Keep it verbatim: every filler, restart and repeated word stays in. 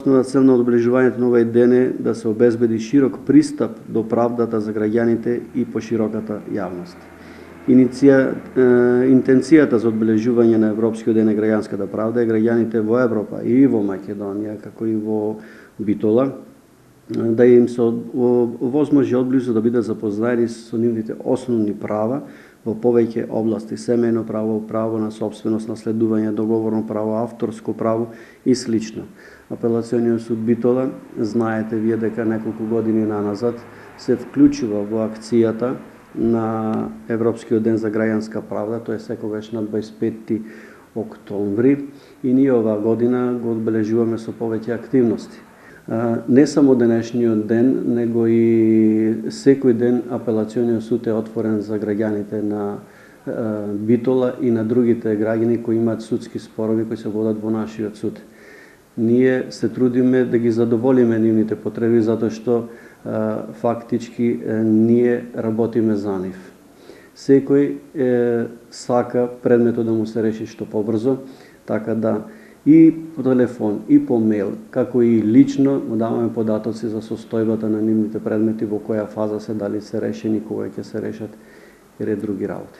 Основна цел на одбележувањето на овој ден е да се обезбеди широк пристап до правдата за граѓаните и пошироката јавност. Иниција, е, интенцијата за одбележување на Европскиот ден на граѓанската правда е граѓаните во Европа и во Македонија, како и во Битола, да им се возможи одблизу да бидат запознаени со нивните основни права во повеќе области: семејно право, право на собственост, наследување, договорно право, авторско право и слично. Апелациониот суд Битола, знаете вие дека неколку години наназад се вклучува во акцијата на Европскиот ден за граѓанска правда, тоа е секогаш на дваесет и петти октомври, и ние оваа година го одбележуваме со повеќе активности. Не само денешниот ден, него и секој ден апелациониот суд е отворен за граѓаните на Битола и на другите граѓани кои имаат судски спорови кои се водат во нашиот суд. Ние се трудиме да ги задоволиме нивните потреби, затоа што фактички ние работиме за нив. Секој е, сака предметот да му се реши што побрзо, така да и по телефон, и по мејл, како и лично му даваме податоци за состојбата на нивните предмети, во која фаза се, дали се решени, кога ќе се решат и ред други работи.